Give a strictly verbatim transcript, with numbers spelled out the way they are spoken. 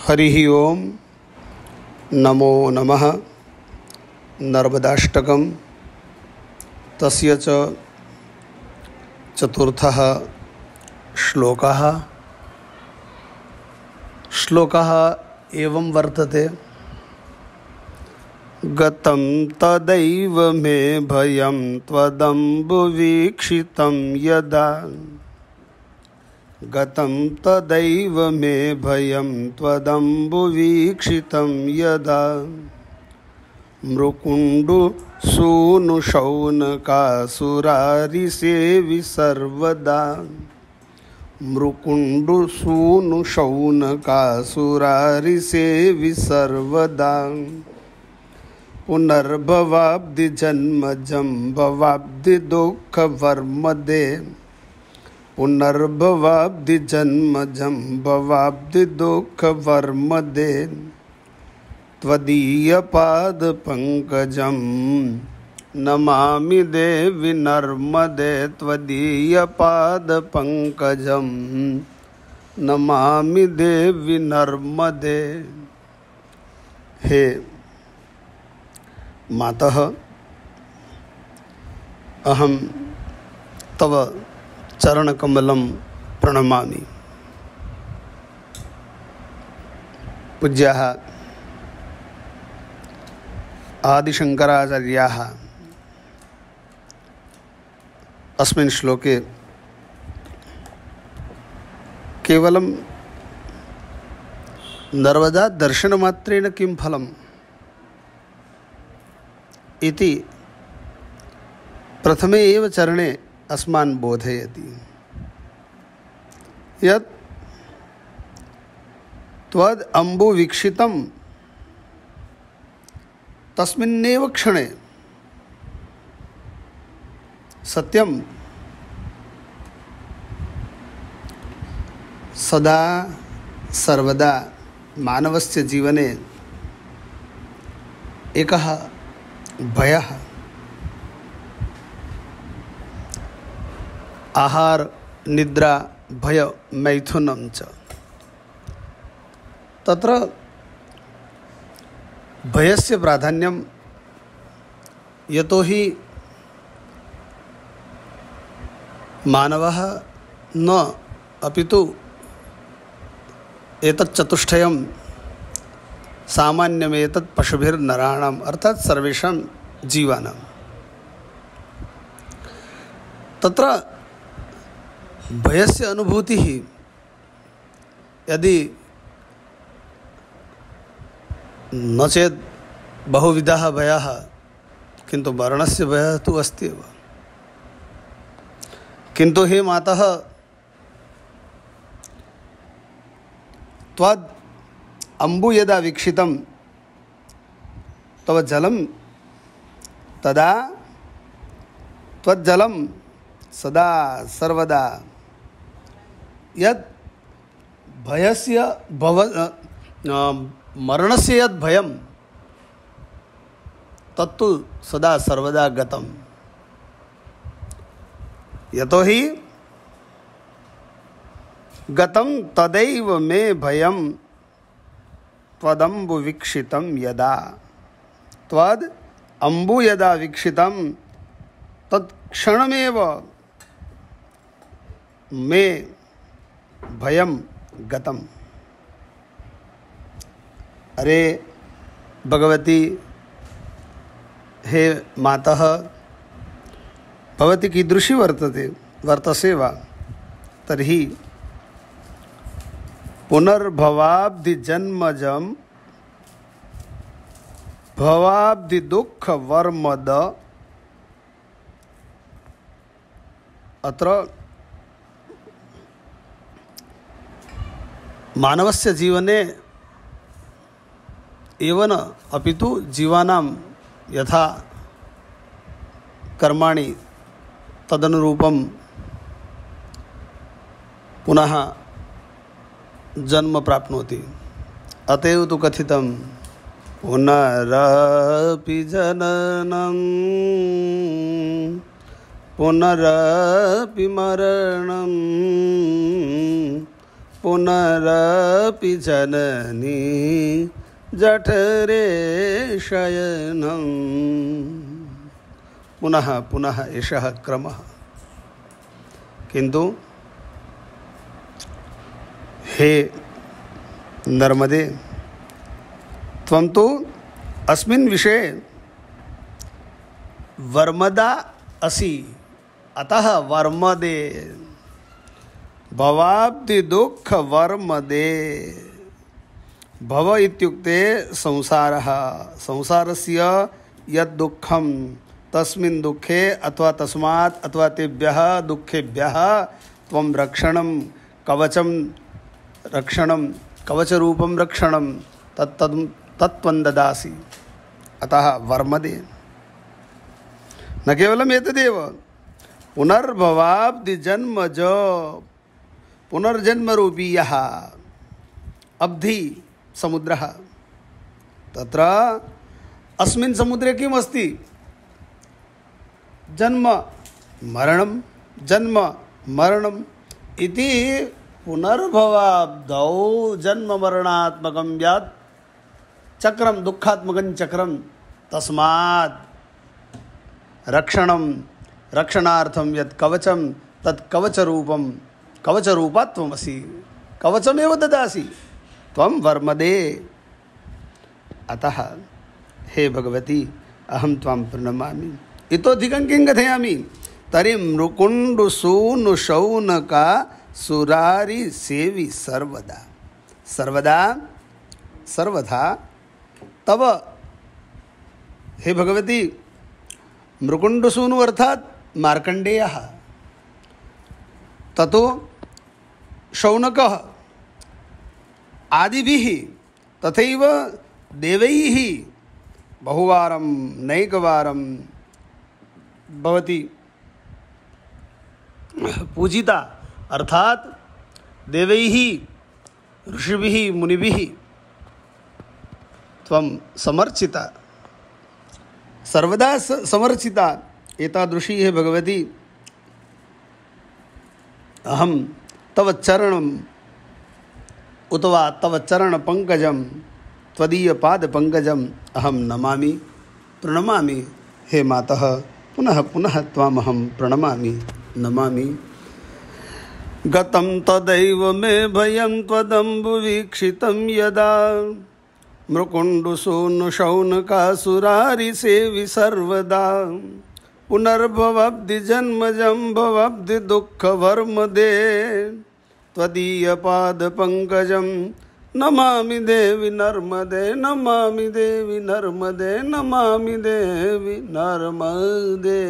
हरिः ओम नमो नमः। नर्मदाष्टकं तस्य च चतुर्थः श्लोकः। श्लोकः एवं वर्तते। गतं तदैव मे भयं त्वदम्बुवीक्षितं यदा। गतं तदैव मे भयं त्वदम्बुवीक्षितं यदा। मृकुण्डुसूनुशौनकासुरारिसेवि सर्वदा। मृकुण्डुसूनुशौनकासुरारिसेवि सर्वदा। पुनर्भवाब्धिजन्मजं भवाब्धिदुःखवर्मदे। पुनर्भवाब्धिजन्मजं भवाब्धिदुःखवर्मदे। त्वदीयपादपङ्कजं नमामि देवि नर्मदे। त्वदीयपादपङ्कजं नमामि देवि नर्मदे। हे मातः, अहं तव चरणकमलं प्रणमामि। पूज्याः आदिशङ्कराचार्याः अस्मिन् श्लोके केवलं नर्मदा दर्शनमात्रेण किं फलम् इति प्रथमे एव चरणे अस्मान् बोधयति। यत् त्वद् अम्बुवीक्षितं तस्मिन्नेव क्षणे सत्यं सदा सर्वदा मानवस्य जीवने एकः भयः, आहार निद्रा भय मैथुनं च। तत्र भयस्य प्राधान्यं यतोहि मानवः न अपितु एतत् चतुष्टयं सामान्यमेतत् पशुभिर्नराणाम् अर्थात् सर्वेषां जीवानां। तत्र भयस्य अनुभूतिः यदि न चेत् बहुविधः भयः, किन्तु मरणस्य भयः तु अस्ति एव। किन्तु हे मातः, त्वद् अम्बु यदा वीक्षितं तव जलं तदा त्वज्जलं सदा सर्वदा। यत् भयस्य भव मरणस्य यत् भयं तत्तु सदा सर्वदा गतं। यतोहि गतं तदैव मे भयं त्वदम्बु वीक्षितं यदा। त्वद् अम्बु यदा वीक्षितं तत्क्षणमेव मे भयं गतम्। अरे भगवती, हे मातः, भवती कीदृशी वर्तते वर्तसे वा? तर्हि पुनर्भवाब्धिजन्मजं भवाब्धिदुःखवर्मद। अत्र मानवस्य जीवने एव न अपितु जीवानां यथा कर्माणि तदनुरूपं पुनः जन्म प्राप्नोति। अतएव तु कथितं पुनरपि जननं पुनरपि मरणं पुनरपि जननी जठरे शयनं। पुनः पुनः एषः क्रमः। किन्तु हे नर्मदे, त्वं तु अस्मिन् विषये वर्मदा असि, अतः वर्मदे। भवाब्धि दुःख वर्मदे। भव इत्युक्ते संसारः। संसारस्य यद् दुःखं तस्मिन् दुःखे अथवा तस्मात् अथवा तेभ्यः दुःखेभ्यः त्वं रक्षणं कवचं रक्षणं कवचरूपं रक्षणं तत् तत्त्वं ददासि, अतः वर्मदे। न केवलम् एतदेव, पुनर्भवाब्धि जन्मज, पुनर्जन्मरूपी यः अब्धि समुद्रः, तत्र अस्मिन् समुद्रे किम् अस्ति? जन्म मरणं, जन्म मरणम् इति पुनर्भवाब्धौ जन्म मरणात्मकं यत् चक्रं, दुःखात्मकं चक्रं, तस्मात् रक्षणं रक्षणार्थं यत् कवचं तत् कवचरूपं कवचरूपात्वमसि, कवचमेव ददासि त्वं वर्मदे। अतः हे भगवती, अहं त्वां प्रणमामि। इतोधिकं किं कथयामि? तर्हि मृकुण्डुसूनुशौनका सुरारि सेवि सर्वदा। सर्वदा सर्वथा तव हे भगवती, मृकुण्डसूनु अर्थात मार्कण्डेयः, ततो शौनकः आदिभिः तथैव देवैः बहुवारं नैकवारं भवति पूजिता, अर्थात देवैः ऋषिभिः मुनिभिः त्वं समर्चिता, सर्वदा समर्चिता। एतादृशी हे भगवती, अहं तव चरणम् उत वा तव चरणपङ्कजं, त्वदीयपादपङ्कजम् अहं नमामि, प्रणमामि। हे मातः, पुनः पुनः त्वामहं प्रणमामि, नमामि। गतं तदैव मे भयं त्वदम्बुवीक्षितं यदा, मृकुण्डुसूनुशौनकासुरारिसेवि सर्वदा। पुनर्भवाब्धि जन्मजं भवाब्धि दुःखवर्मदे, त्वदीयपादपङ्कजं नमामि देवि नर्मदे, नमामि देवि नर्मदे, नमामि देवि नर्मदे।